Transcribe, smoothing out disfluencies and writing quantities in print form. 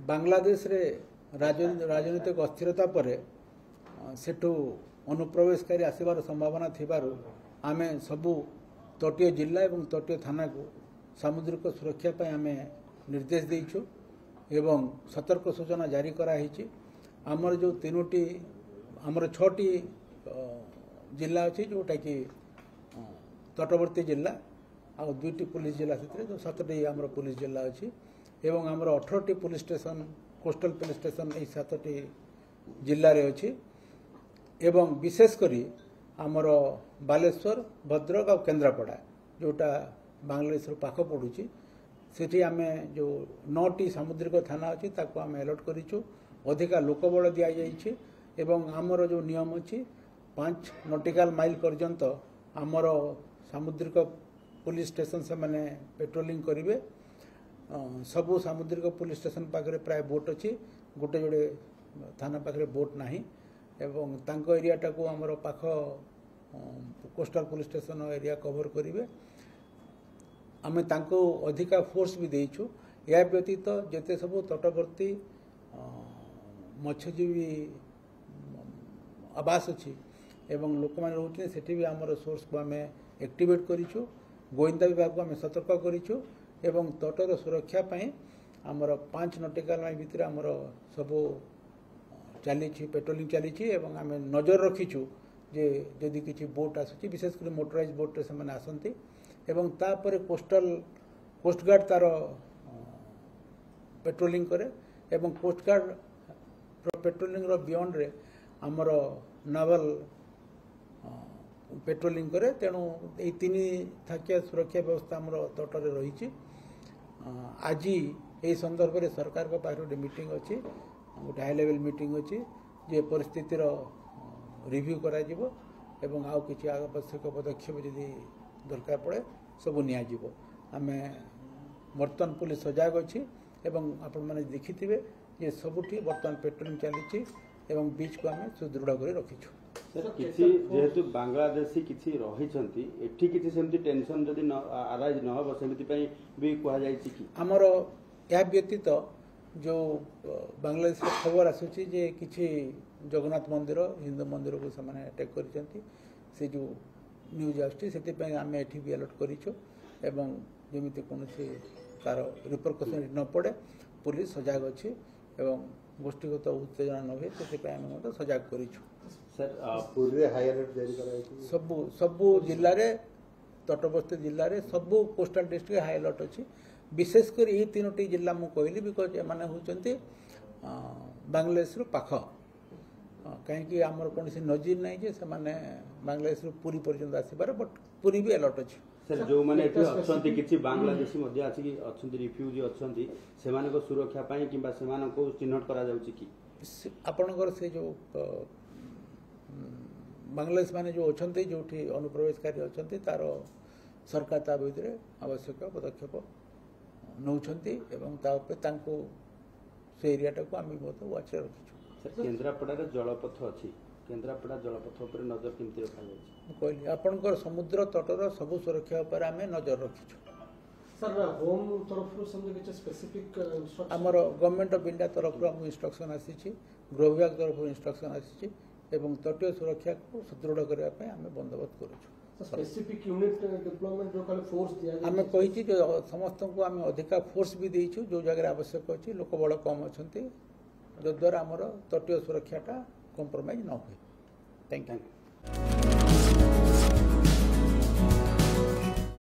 ବାଂଲାଦେଶରେ ରାଜନୈତିକ ଅସ୍ଥିରତା ପରେ ସେଠୁ ଅନୁପ୍ରବେଶକାରୀ ଆସିବାର ସମ୍ଭାବନା ଥିବାରୁ ଆମେ ସବୁ ତଟୀୟ ଜିଲ୍ଲା ଏବଂ ତଟୀୟ ଥାନାକୁ ସାମୁଦ୍ରିକ ସୁରକ୍ଷା ପାଇଁ ଆମେ ନିର୍ଦ୍ଦେଶ ଦେଇଛୁ ଏବଂ ସତର୍କ ସୂଚନା ଜାରି କରାହେଇଛି। ଆମର ଯେଉଁ ତିନୋଟି ଆମର 6ଟି ଜିଲ୍ଲା ଅଛି ଯେଉଁଟାକି ତଟବର୍ତ୍ତୀ ଜିଲ୍ଲା ଆଉ 2ଟି ପୋଲିସ ଜିଲ୍ଲା, ସେଥିରେ ଯେଉଁ 7ଟି ଆମର ପୋଲିସ ଜିଲ୍ଲା ଅଛି ଏବଂ ଆମର 18ଟି police station, coastal police station ଏଇ 7ଟି ଜିଲ୍ଲାରେ ଅଛି ଏବଂ ବିଶେଷ କରି ଆମର ବାଲେଶ୍ୱର, ଭଦ୍ରକ ଆଉ କେନ୍ଦ୍ରାପଡ଼ା ଯେଉଁଟା ବାଂଲାଦେଶରୁ ପାଖ ପଡ଼ୁଛି, ସେଠି ଆମେ ଯେଉଁ 9ଟି ସାମୁଦ୍ରିକ ଥାନା ଅଛି ତାକୁ ଆମେ ଆଲର୍ଟ କରିଛୁ। ଅଧିକା ଲୋକବଳ ଦିଆଯାଇଛି ଏବଂ ଆମର ଯେଉଁ ନିୟମ ଅଛି 5 ନଟିକାଲ ମାଇଲ ପର୍ଯ୍ୟନ୍ତ ଆମର ସାମୁଦ୍ରିକ ପୋଲିସ ଷ୍ଟେସନ ସେମାନେ ପେଟ୍ରୋଲିଂ କରିବେ। ସବୁ ସାମୁଦ୍ରିକ ପୋଲିସ ଷ୍ଟେସନ ପାଖରେ ପ୍ରାୟ ବୋଟ୍ ଅଛି, ଗୋଟେ ଯୋଡ଼େ ଥାନା ପାଖରେ ବୋଟ୍ ନାହିଁ ଏବଂ ତାଙ୍କ ଏରିଆଟାକୁ ଆମର ପାଖ coastal police station area cover କରିବେ। ଆମେ ତାଙ୍କୁ ଅଧିକା ଫୋର୍ସ ବି ଦେଇଛୁ। ଏହା ବ୍ୟତୀତ ଯେତେ ସବୁ ତଟବର୍ତ୍ତୀ ମତ୍ସ୍ୟଜୀବୀ ଆବାସ ଅଛି ଏବଂ ଲୋକମାନେ ରହୁଛନ୍ତି ସେଠି ବି ଆମର ସୋର୍ସକୁ ଆମେ ଆକ୍ଟିଭେଟ୍ କରିଛୁ। ଗୋଇନ୍ଦା ବିଭାଗକୁ ଆମେ ସତର୍କ କରିଛୁ ଏବଂ ତଟର ସୁରକ୍ଷା ପାଇଁ ଆମର 5 ନଟିକାଲ ମାଇଲ ଭିତରେ ଆମର ସବୁ ଚାଲିଛି, ପେଟ୍ରୋଲିଂ ଚାଲିଛି ଏବଂ ଆମେ ନଜର ରଖିଛୁ ଯେ ଯଦି କିଛି ବୋଟ୍ ଆସୁଛି, ବିଶେଷ କରି ମୋଟରାଇଜ୍ ବୋଟ୍ରେ ସେମାନେ ଆସନ୍ତି ଏବଂ ତାପରେ କୋଷ୍ଟଗାର୍ଡ଼ ତାର ପେଟ୍ରୋଲିଂ କରେ ଏବଂ କୋଷ୍ଟଗାର୍ଡ଼ ପେଟ୍ରୋଲିଂର ବିୟଣ୍ଡରେ ଆମର ନାଭାଲ ପେଟ୍ରୋଲିଂ କରେ। ତେଣୁ ଏଇ 3 ଥାକିଆ ସୁରକ୍ଷା ବ୍ୟବସ୍ଥା ଆମର ତଟରେ ରହିଛି। ଆଜି ଏହି ସନ୍ଦର୍ଭରେ ସରକାରଙ୍କ ପାଖରେ ଗୋଟେ ମିଟିଂ ଅଛି, ଗୋଟେ ହାଇ ଲେଭେଲ୍ ମିଟିଂ ଅଛି ଯେ ପରିସ୍ଥିତିର ରିଭ୍ୟୁ କରାଯିବ ଏବଂ ଆଉ କିଛି ଆବଶ୍ୟକ ପଦକ୍ଷେପ ଯଦି ଦରକାର ପଡ଼େ ସବୁ ନିଆଯିବ। ଆମେ ବର୍ତ୍ତମାନ ପୋଲିସ ସଜାଗ ଅଛି ଏବଂ ଆପଣମାନେ ଦେଖିଥିବେ ଯେ ସବୁଠି ବର୍ତ୍ତମାନ ପେଟ୍ରୋଲିଂ ଚାଲିଛି ଏବଂ ବିଚ୍କୁ ଆମେ ସୁଦୃଢ଼ କରି ରଖିଛୁ। ସାର୍, କିଛି ଯେହେତୁ ବାଂଲାଦେଶୀ କିଛି ରହିଛନ୍ତି ଏଠି, କିଛି ସେମିତି ଟେନସନ୍ ଯଦି ଆରାଇଜ୍ ନ ହେବ ସେମିତି ପାଇଁ ବି କୁହାଯାଇଛି କି? ଆମର ଏହା ବ୍ୟତୀତ ଯେଉଁ ବାଂଲାଦେଶର ଖବର ଆସୁଛି ଯେ କିଛି ଜଗନ୍ନାଥ ମନ୍ଦିର, ହିନ୍ଦୁ ମନ୍ଦିରକୁ ସେମାନେ ଆଟାକ୍ କରିଛନ୍ତି, ସେ ଯେଉଁ ନ୍ୟୁଜ୍ ଆସୁଛି ସେଥିପାଇଁ ଆମେ ଏଠି ବି ଆଲର୍ଟ କରିଛୁ ଏବଂ ଯେମିତି କୌଣସି ତାର ରିପରକସନ୍ ନ ପଡ଼େ ପୋଲିସ ସଜାଗ ଅଛି ଏବଂ ଗୋଷ୍ଠୀଗତ ଉତ୍ତେଜନା ନ ହୁଏ ସେଥିପାଇଁ ଆମେ ମଧ୍ୟ ସଜାଗ କରିଛୁ। ସାର୍, ପୁରୀରେ ହାଇ ଆଲର୍ଟ ଜାରି କରାଯାଇଛି। ସବୁ ସବୁ ଜିଲ୍ଲାରେ, ତଟବର୍ତ୍ତୀ ଜିଲ୍ଲାରେ ସବୁ କୋଷ୍ଟାଲ ଡିଷ୍ଟ୍ରିକ୍ଟ ହାଇ ଆଲର୍ଟ ଅଛି। ବିଶେଷ କରି ଏଇ 3ଟି ଜିଲ୍ଲା ମୁଁ କହିଲି because ଏମାନେ ହେଉଛନ୍ତି ବାଂଲାଦେଶରୁ ପାଖ, କାହିଁକି ଆମର କୌଣସି ନଜିର ନାହିଁ ଯେ ସେମାନେ ବାଂଲାଦେଶରୁ ପୁରୀ ପର୍ଯ୍ୟନ୍ତ ଆସିପାରେ, ବଟ୍ ପୁରୀ ବି ଆଲର୍ଟ ଅଛି। ସାର୍, ଯେଉଁମାନେ ଏଠି ଅଛନ୍ତି କିଛି ବାଂଲାଦେଶୀ ମଧ୍ୟ ଆସିକି ଅଛନ୍ତି, ରିଫ୍ୟୁଜି ଅଛନ୍ତି, ସେମାନଙ୍କ ସୁରକ୍ଷା ପାଇଁ କିମ୍ବା ସେମାନଙ୍କୁ ଚିହ୍ନଟ କରାଯାଉଛି କି? ଆପଣଙ୍କର ସେ ଯେଉଁ ବାଂଲାଦେଶ ମାନେ ଯେଉଁ ଅଛନ୍ତି, ଯେଉଁଠି ଅନୁପ୍ରବେଶକାରୀ ଅଛନ୍ତି, ତାର ସରକାର ତା ଭିତରେ ଆବଶ୍ୟକ ପଦକ୍ଷେପ ନେଉଛନ୍ତି ଏବଂ ତା ଉପରେ ତାଙ୍କୁ ସେ ଏରିଆଟାକୁ ଆମେ ମଧ୍ୟ ୱାଚ୍ରେ ରଖିଛୁ। ସାର୍, କେନ୍ଦ୍ରାପଡ଼ାରେ ଜଳପଥ ଅଛି, କେନ୍ଦ୍ରାପଡ଼ା ଜଳପଥ ଉପରେ ନଜର କେମିତି ରଖାଯାଇଛି? ମୁଁ କହିଲି ଆପଣଙ୍କର ସମୁଦ୍ର ତଟର ସବୁ ସୁରକ୍ଷା ଉପରେ ଆମେ ନଜର ରଖିଛୁ। ସାର୍, ହୋମ୍ ତରଫରୁ ସେମିତି କିଛି ସ୍ପେସିଫିକ୍ ଇନଷ୍ଟ୍ରକ୍ସନ? ଆମର ଗଭର୍ଣ୍ଣମେଣ୍ଟ ଅଫ୍ ଇଣ୍ଡିଆ ତରଫରୁ ଆମକୁ ଇନଷ୍ଟ୍ରକ୍ସନ୍ ଆସିଛି, ଗୃହ ବିଭାଗ ତରଫରୁ ଇନଷ୍ଟ୍ରକ୍ସନ୍ ଆସିଛି ଏବଂ ତଟୀୟ ସୁରକ୍ଷାକୁ ସୁଦୃଢ଼ କରିବା ପାଇଁ ଆମେ ବନ୍ଦୋବସ୍ତ କରୁଛୁ। ସ୍ପେସିଫିକ୍ ୟୁନିଟ୍ ଡିପ୍ଲୟମେଣ୍ଟ ଯୋଉ ଖାଲି ଫୋର୍ସ ଦିଆଯାଇଛି? ଆମେ କହିଛି ଯେ ସମସ୍ତଙ୍କୁ ଆମେ ଅଧିକା ଫୋର୍ସ ବି ଦେଇଛୁ ଯେଉଁ ଜାଗାରେ ଆବଶ୍ୟକ ଅଛି, ଲୋକ ବଳ କମ୍ ଅଛନ୍ତି, ଯଦ୍ୱାରା ଆମର ତଟୀୟ ସୁରକ୍ଷାଟା କମ୍ପ୍ରମାଇଜ୍ ନ ହୁଏ। Thank you.